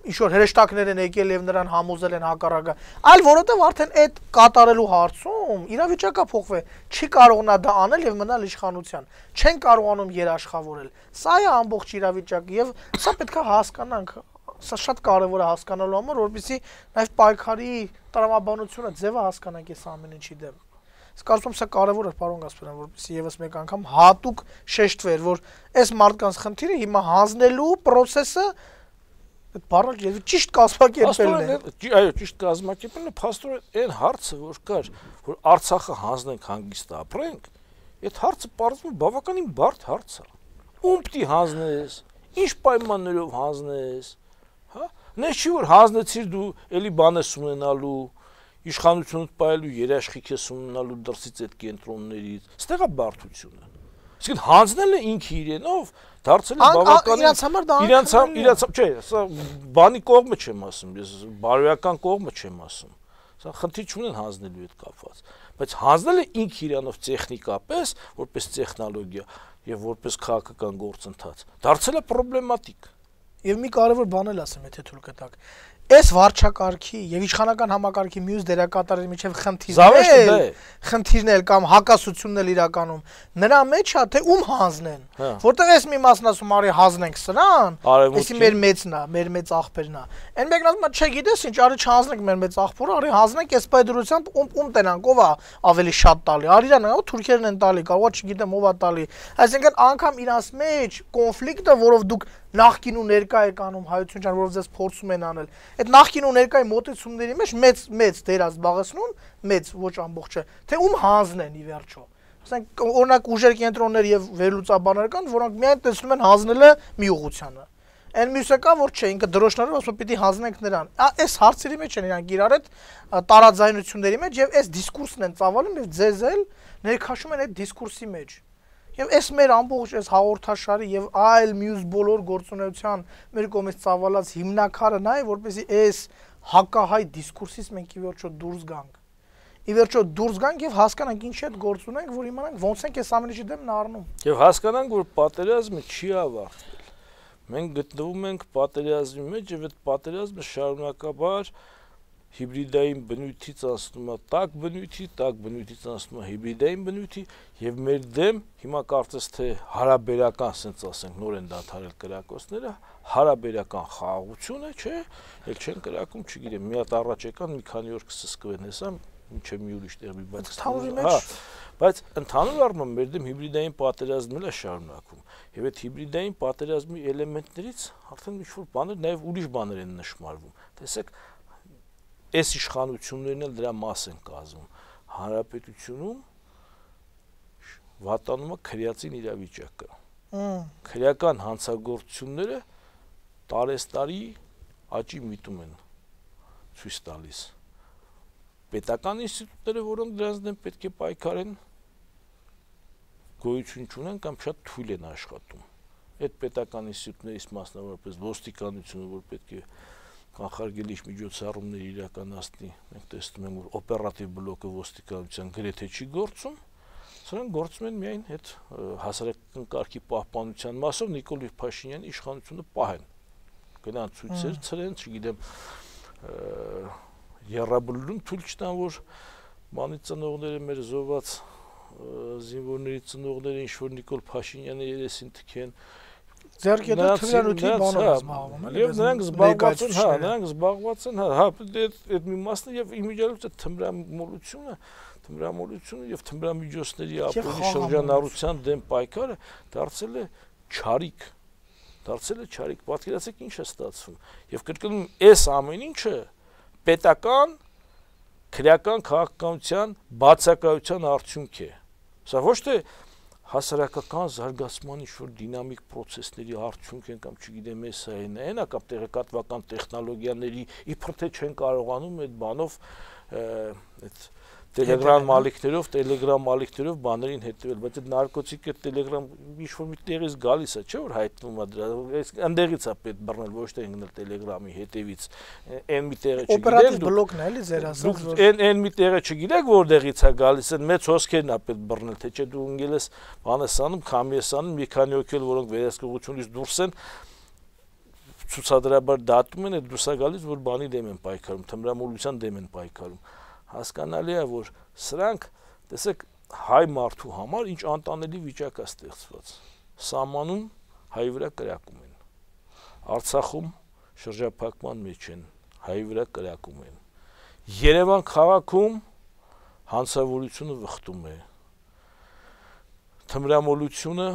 ինչ-որ հրեշտակներ են եկել եւ նրան համոզել են հակառակը, այլ որովհետեւ արդեն այդ կատարելու հարցում իրավիճակը փոխվել, չի կարողանա դա անել եւ մնալ իշխանության, չեն կարողանում երաշխավորել։ Սա է ամբողջ իրավիճակը եւ սա պետք է հասկանանք, սա շատ կարեւոր է հասկանալու համար, որովհետեւ նաեւ պայքարի տրամաբանությունը ձևը հասկանանք այս ամեն ինչի դեմ։ Իսկ կարծում եմ սա կարևոր է, պարոն Գասպարյան, որպեսզի եւս մեկ անգամ հատուկ շեշտվեր, որ այս մարդկանց խնդիրը հիմա հանձնելու process-ը այդ բառը եւ ճիշտ կազմակերպելն է։ Այո, ճիշտ կազմակերպելն է, փաստորեն այն հարցը, որ կար, որ Արցախը հանձնենք հանգիստ ապրենք, այդ հարցը պարզվում բավականին բարդ հարց է։ Ում պիտի հանձնես, ինչ պայմաններով հանձնես, հա։ Նես չի որ հանձնեցիր դու էլի բան ես ունենալու, իշխանությունդ պայելու երաշխիք ես ունենալու դրսից այդ կենտրոններից, ստեղ է բարդությունը։ Իսկ հանձնելը ինքը իրենով դարձել է բավականին իրանց համար դա իրանց իրանց չէ, սա բանի կողմը չեմ ասում, ես բարոյական կողմը չեմ ասում։ Սա խնդիր չունեն հանձնելու հետ կապված, բայց հանձնելը ինքը իրանով տեխնիկապես, որպես տեխնոլոգիա եւ որպես քաղաքական գործընթաց, դարձել է պրոբլեմատիկ։ Եվ մի կարևոր բան էլ ասեմ, եթե թույլ կտաք։ Այս վարչակարգի եւ իշխանական համակարգի մյուս դերակատարների միջև խնդիրներ, խնդիրն էլ կամ հակասությունն էլ իրականում նրա մեջ է, թե ում հանձնեն, որտեղ էս մի մասն ասում արի հանձնենք սրան, էսի մեր մեծն է, մեր մեծ աղբերն է։ Այն մեկն ասում է, չէ, գիտես ինչ, արի չհանձնենք մեր մեծ աղբորը, արի հանձնենք այս պայդրությամբ ում ում տենանք, ով է ավելի շատ տալի։ Արիրան է, թուրքերն են տալի, կարող չգիտեմ ով է տալի։ Այսինքն անգամ իրանց մեջ կոնֆլիկտը, որով դուք նախկին ու ներկա եք անում հայություն ջան, որով ձեզ փորձում են անել։ Այդ նախկին ու ներկայի մոտեցումների մեջ մեծ մեծ դեր զբաղեցնում, մեծ ոչ ամբողջը, թե ում հանձնեն ի վերջո։ Ասենք օրինակ ուժեր կենտրոններ եւ վերլուծաբաններ կան, որոնք միայն տեսնում են հանձնելը մի ուղղությանը։ Այն մյուսը կա, որ չէ, ինքը դրոշներով ասում պիտի հանձնենք նրան։ Այս հարցերի մեջ են իրանք իրար հետ տարաձայնությունների մեջ եւ այս դիսկուրսն են ծավալում եւ ձեզ էլ ներքաշում են այդ դիսկուրսի մեջ։ Եվ այս մեր ամբողջ այս հաղորդաշարի եւ այլ մյուս բոլոր գործունեության մեր կողմից ծավալած հիմնակարը նա է, որպեսզի այս հակահայ դիսկուրսից մենք ի վերջո դուրս գանք։ Ի վերջո դուրս գանք եւ հասկանանք ինչի հետ գործ ունենք, որ իմանանք ոնց ենք այս ամենի դեմ նառնում։ Եվ հասկանանք, որ պատերազմը չի ավարտվել։ Մենք գտնվում ենք պատերազմի մեջ եւ այդ պատերազմը շարունակաբար հիբրիդային բնույթից անցնում է տաք բնույթի, տաք բնույթից անցնում է հիբրիդային բնույթի եւ մեր դեմ հիմա կարծես թե հարաբերական, ասենք ասենք նոր են դադարել կրակոցները, հարաբերական խաղաղություն է, չէ՞, ել չեն կրակում, չգիտեմ, մի հատ առաջ եկան, մի քանի օր կսսկվեն, հեսա, ինչե մի ուրիշ տեղ մի բան կստանալի մեջ, բայց ընդհանուր առմամբ մեր դեմ հիբրիդային պատերազմն է շարունակվում եւ այդ հիբրիդային պատերազմի էլեմենտներից արդեն ինչ-որ բաներ, նաեւ ուրիշ բաներ են նշмарվում։ Տեսեք, այս իշխանություններն էլ դրա մաս են կազմում։ Հանրապետությունում վատանում է քրեացին իրավիճակը։ Քրեական հանցագործությունները տարեստարի աճի միտում են ցույց տալիս։ Պետական ինստիտուտները, որոնք դրանց դեմ պետք է պայքարեն, գոյություն չունեն կամ շատ թույլ են աշխատում։ Այդ պետական ինստիտուտներից մասնավորապես ոստիկանությունը, որ պետք է կանխարգելիչ միջոցառումներ իրականացնի, մենք տեսնում ենք, որ օպերատիվ բլոկը ոստիկանության գրեթե չի գործում, սրանք գործում են միայն այդ հասարակական կարգի պահպանության մասով Նիկոլ Փաշինյանի իշխանությունը պահեն։ Գնան ցույցեր ցրեն, չգիտեմ, երրաբլուրում թույլ չտան, որ բանի ծնողները մեր զոհված զինվորների ծնողները ինչ-որ Նիկոլ Փաշինյանի երեսին թքեն, Ձերք եթե թվրանյութի բանով զբաղվում են, եւ նրանք զբաղված են, հա, նրանք զբաղված են, հա, այդ մի մասն եւ իմիջիայլոց այդ թմրամոլությունը, թմրամոլությունը եւ թմրամիջոցների ապօրինի շրջանառության դեմ պայքարը դարձել է չարիք, դարձել է չարիք, պատկերացեք ինչ է ստացվում։ Եվ կրկնում այս ամեն ինչը պետական քրեական քաղաքականության բացակայության արդյունք է։ Սա ոչ թե հասարակական զարգացման ինչ-որ դինամիկ պրոցեսների արդյունք են կամ չգիտեմ ես այն է, հենա կամ տեղեկատվական տեխնոլոգիաների իբր թե չեն կարողանում այդ բանով այդ Telegram ալիքներով, Telegram ալիքներով բաներին հետևել, բայց այդ նարկոտիկը Telegram ինչ-որ մի տեղից գալիս է, չէ՞ որ հայտնվում է դրա, այս ընդեղից է պետք բռնել, ոչ թե ընկնել Telegram-ի հետևից, այն մի տեղը չգիտեք, օպերատիվ բլոկն է, էլի ձեր ասած, որ այն այն մի տեղը չգիտեք, որտեղից է գալիս, այն մեծ հոսքերն է պետք բռնել, թե չէ դու ընկել ես բանես անում, քամի ես անում, մի քանի օքել, որոնք վերահսկողությունից դուրս են, ցուցադրաբար դատում են, այդ դուրս է գալիս, որ բանի դեմ են պայքարում, թմրամոլության դեմ են պայքարում։ Հասկանալի է, որ սրանք, տեսեք, հայ մարդու համար ինչ անտանելի վիճակ է ստեղծված։ Սահմանում հայ վրա կրակում են։ Արցախում շրջափակման մեջ են, հայ վրա կրակում են։ Երևան քաղաքում հանցավորությունը վխտում է, թմրամոլությունը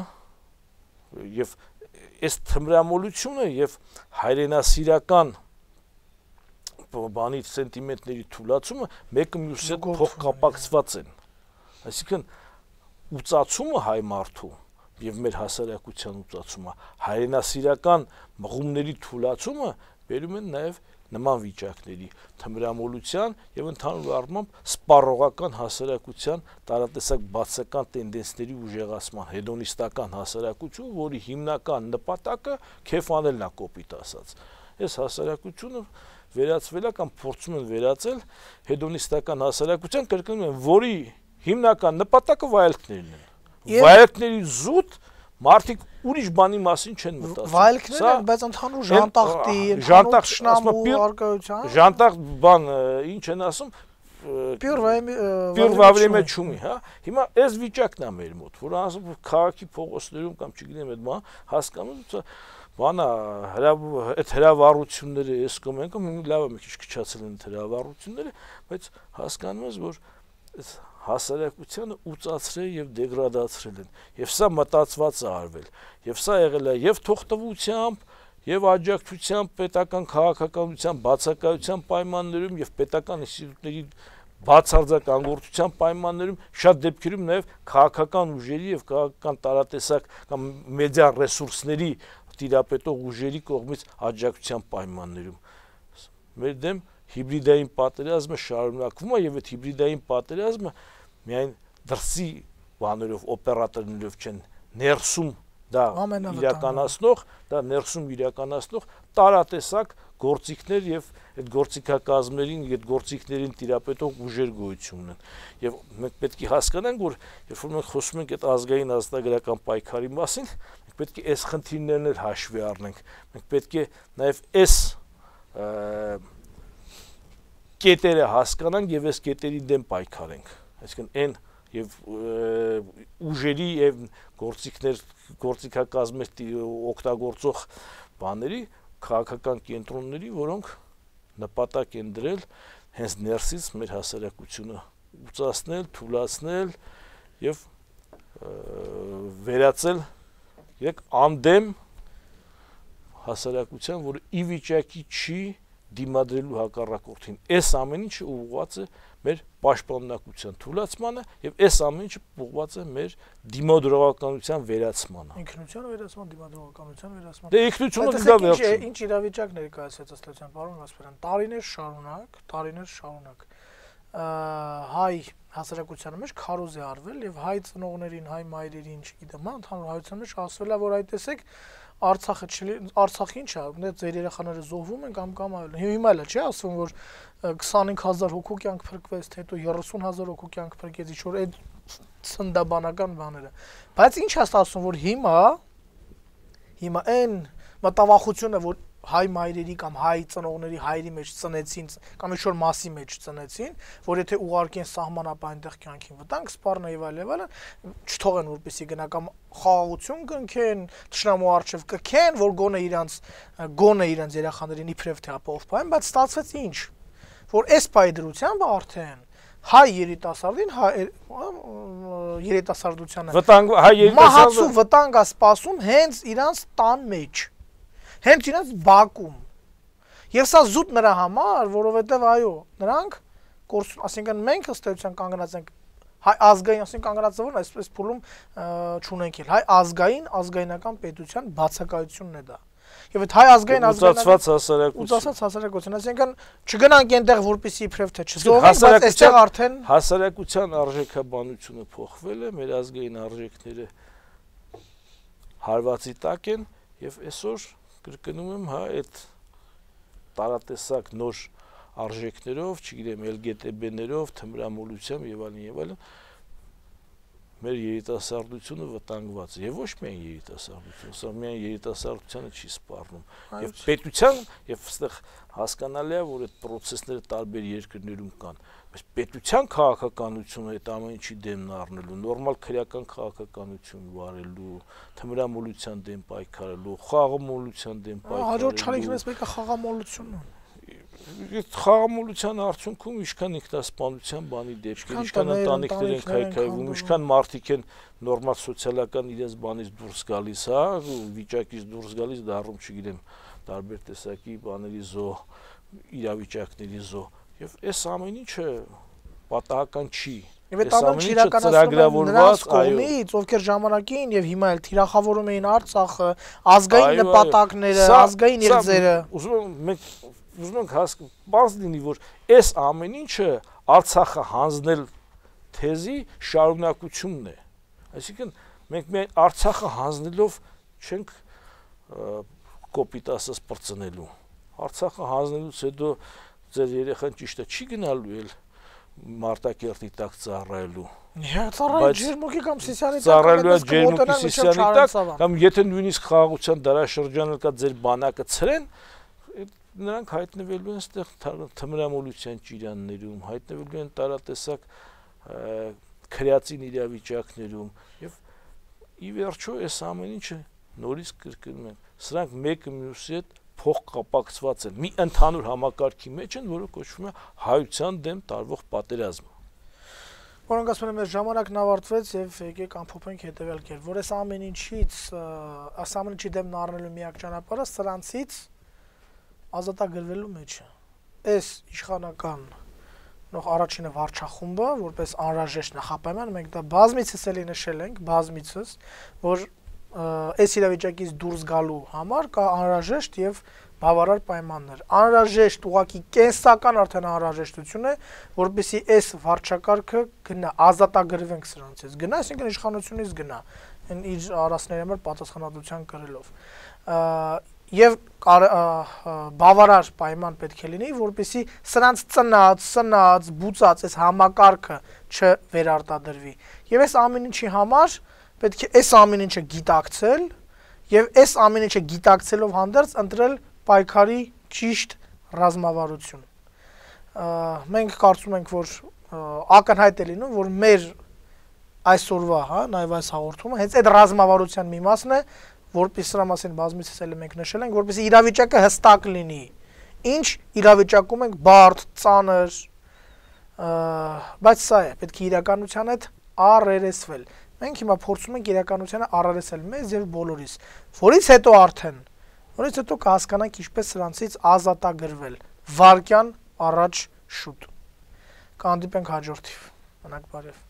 եւ այս թմրամոլությունը եւ հայրենասիրական բանի սենտիմենտների թուլացումը մեկը մյուսի հետ փոխկապակցված են, այսինքն ուծացումը հայ մարդու եւ մեր հասարակության ուծացումը, հայրենասիրական մղումների թուլացումը բերում են նաեւ նման վիճակների, թմրամոլության եւ ընդհանուր առմամբ սպառողական հասարակության տարատեսակ բացական տենդենսների ուժեղացման, հեդոնիստական հասարակություն, որի հիմնական նպատակը քեֆ անելն է կոպիտ ասած։ Այս հասարակությունը վերածվել է կամ փորձում են վերածել հեդոնիստական հասարակության, կրկնում եմ, որի հիմնական նպատակը վայելքներն են։ Վայելքների զուտ մարդիկ ուրիշ բանի մասին չեն մտածում։ Վայելքներ են, բայց ընդհանուր ժանտախտի, ընդհանուր շնամու արկայության։ Ժանտախտ բան ինչ են ասում, պյուր վավրեմե չումի, հա։ Հիմա այս վիճակն է մեր մոտ, որ ասում քաղաքի փողոցներում կամ չգիտեմ այդ բան հասկանում բանա այդ հրավառությունները էս կամ են կամ լավ է մի քիչ քչացել են հրավառությունները, բայց հասկանում ես, որ այս հասարակությանը ուծացրել եւ դեգրադացրել են, եւ սա մտածված է արվել, եւ սա եղել է եւ թողտվությամբ, եւ աջակցությամբ պետական քաղաքականության բացակայության պայմաններում եւ պետական ինստիտուտների բացարձականգործության պայմաններում, շատ դեպքերում նաեւ քաղաքական ուժերի եւ քաղաքական տարատեսակ կամ մեդիա ռեսուրսների տիրապետող ուժերի կողմից աջակցության պայմաններում։ Մեր դեմ հիբրիդային պատերազմը շարունակվում է եւ այդ հիբրիդային պատերազմը միայն դրսի բաներով օպերատորներով չեն, ներսում դա իրականացնող, դա ներսում իրականացնող տարատեսակ գործիքներ եւ այդ գործիքակազմերին, այդ գործիքներին տիրապետող ուժեր գոյություն ունեն։ Եվ մենք պետք է հասկանանք, որ երբ որ մենք խոսում ենք այդ ազգային ազատագրական պայքարի մասին, մենք պետք է այս խնդիրներն էլ հաշվի առնենք։ Մենք պետք է նաեւ այս կետերը հասկանանք եւ այս կետերի դեմ պայքարենք, այսինքն այն եւ ուժերի եւ գործիքներ գործիքակազմեր օգտագործող բաների քաղաքական կենտրոնների, որոնք նպատակ են դրել հենց ներսից մեր հասարակությունը ուծացնել, թուլացնել եւ վերածել երեք անդեմ հասարակության, որը ի վիճակի չի դիմադրելու հակառակորդին։ Այս ամեն ինչը ուղղված է մեր պաշտպանունակության թուլացմանը եւ այս ամեն ինչը ուղղված է մեր դիմադրողականության վերացմանը։ Ինքնության վերացման, դիմադրողականության վերացման։ Դե ինքնությունը դա վերջը։ Ինչ իրավիճակ ներկայացած ըստ էության, պարոն Գասպարյան, տարիներ շարունակ, տարիներ շարունակ հայ հասարակության մեջ քարոզ է արվել եւ հայ ծնողներին, հայ մայրերին, չգիտեմ, ընդհանուր հայության մեջ ասվել է, որ այդ տեսեք Արցախը չլի, Արցախի ինչ է, դե ձեր երեխաները զոհվում են կամ կամ այլն։ Հիմա էլ չի ասվում, որ քսանհինգ հազար հոգու կյանք փրկվեց, թե հետո երեսուն հազար հոգու կյանք փրկեց, ինչ որ այդ ցնդաբանական բաները։ Բայց ինչ է ասում, որ հիմա հիմա այն մտավախությունը, որ հայ մայրերի կամ հայ ծնողների հայրի մեջ ծնեցին կամ ինչ որ մասի մեջ ծնեցին, որ եթե ուղարկեն սահմանապահ այնտեղ կյանքին վտանգ սպառնա եւ այլ եւ այլն, չթողեն որպեսի գնա կամ խաղաղություն կնքեն, թշնամու արչեւ կքեն, որ գոնե իրանց գոնե իրանց երեխաներին իբրև թե ապահով պահեն, բայց ստացվեց ինչ, որ այս պայդրությամբ արդեն հայ երիտասարդին հայ երիտասարդությանը վտանգ հայ երիտասարդը վտանգ է սպասում հենց իրանց տան մեջ, հենց իրենց բակում։ Եվ սա զուտ նրա համար, որովհետև այո, նրանք կորսուն, ասինքն մենք ըստ էության կանգնած ենք հայ ազգային, ասենք կանգնած որն է, այսպես փուլում չունենք էլ, հայ ազգային, ազգայնական պետության բացակայությունն է դա։ Եվ այդ հայ ազգային ազգայնացված հասարակություն, ուծացած հասարակություն, ասինքն չգնանք այնտեղ որպեսի իբրև թե չզոհվենք, բայց այստեղ արդեն հասարակության արժեքաբանությունը փոխվել է, մեր ազգային արժեքները հարվածի տակ են եւ այսօր կրկնում եմ, հա, այդ տարատեսակ նոր արժեքներով, չգիտեմ, էլ գե տե բեներով, թմրամոլությամբ եւ այլն եւ այլն մեր երիտասարդությունը վտանգված է եւ ոչ միայն երիտասարդությունը, սա միայն երիտասարդությանը չի սպառնում եւ պետության եւ այստեղ հասկանալի է, որ այդ process-ները տարբեր երկրներում կան, բայց պետության քաղաքականությունը այդ ամեն ինչի դեմն առնելու, նորմալ քրեական քաղաքականություն վարելու, թմրամոլության դեմ պայքարելու, խաղամոլության դեմ պայքարելու։ Հաջորդ չարիքներից մեկը խաղամոլությունն է։ Խաղամոլության արդյունքում ինչքան ինքնասպանության բանի դեպքեր, ինչքան ընտանիքներ են քայքայվում, ինչքան մարդիկ են նորմալ սոցիալական իրենց բանից դուրս գալիս, հա, վիճակից դուրս գալիս, դառնում, չգիտեմ, տարբեր տեսակի բաների զո, իրավիճակների զո, եւ այս ամեն ինչը պատահական չի։ Եվ այդ ամենը իրականացնում նրանց կողմից, ովքեր ժամանակին եւ հիմա էլ թիրախավորում էին Արցախը, ազգային նպատակները, ազգային իրձերը։ Ուզում եմ մենք ուզում ենք հասկանալ, բաց լինի, որ այս ամեն ինչը Արցախը հանձնել թեզի շարունակությունն է։ Այսինքն մենք միայն Արցախը հանձնելով չենք կոպիտ ասած պրծնելու։ Արցախը հանձնելուց հետո ձեր երեխան ճիշտ է չի գնալու էլ Մարտակերտի տակ ծառայելու։ Ծառայել ջերմուկի կամ Սիսիանի տակ ծառայելու ջերմուկի Սիսիանի տակ կամ եթե նույնիսկ խաղաղության դարաշրջանը կա ձեր բանակը ցրեն, նրանք հայտնվելու են այդտեղ թմրամոլության ճիրաններում, հայտնվելու են տարատեսակ քրեացին իրավիճակներում եւ ի վերջո այս ամեն ինչը նորից կրկնում են։ Սրանք մեկը մյուսի հետ փոխկապակցված են մի ընդհանուր համակարգի մեջ են, որը կոչվում է հայության դեմ տարվող պատերազմ։ Որոնք ասում են մեր ժամանակն ավարտվեց եւ եկեք ամփոփենք հետեւյալ կերպ, որ այս ամեն ինչից, այս ամեն ինչի դեմ առնելու միակ ճանապարհը սրանցից ազատագրվելու մեջ է։ Այս իշխանական նոր առաջինը վարչախումբը, որպես անհրաժեշտ նախապայման, մենք դա բազմիցս էլի նշել ենք, բազմիցս, որ այս իրավիճակից դուրս գալու համար կա անհրաժեշտ եւ բավարար պայմաններ։ Անհրաժեշտ ուղղակի կենսական արդեն անհրաժեշտություն է, որպեսզի այս վարչակարգը գնա, ազատագրվենք սրանցից։ Գնա, այսինքն իշխանությունից գնա, իր արասների համար պատասխանատվության կրելով։ Եվ բավարար պայման պետք է լինի, որպեսզի սրանց ծնած, սնած, բուծած այս համակարգը չվերարտադրվի։ Եվ այս ամեն ինչի համար պետք է այս ամեն ինչը գիտակցել եւ այս ամեն ինչը գիտակցելով հանդերձ ընտրել պայքարի ճիշտ ռազմավարություն։ Մենք կարծում ենք, որ ակնհայտ է լինում, որ մեր այսօրվա, հա, նաեւ այս հաղորդումը հենց այդ ռազմավարության մի մասն է, որպես սրա մասին բազմիցս էլ մենք նշել ենք, որպեսզի իրավիճակը հստակ լինի։ Ինչ իրավիճակում ենք բարդ, ծանր, բայց սա է, պետք է իրականության հետ առերեսվել։ Մենք հիմա փորձում ենք իրականությանը առերեսել մեզ եւ բոլորիս, որից հետո արդեն, որից հետո կհասկանանք ինչպես սրանցից ազատագրվել, վարկյան առաջ շուտ։ Կհանդիպենք հաջորդիվ։ Մնաք բարև։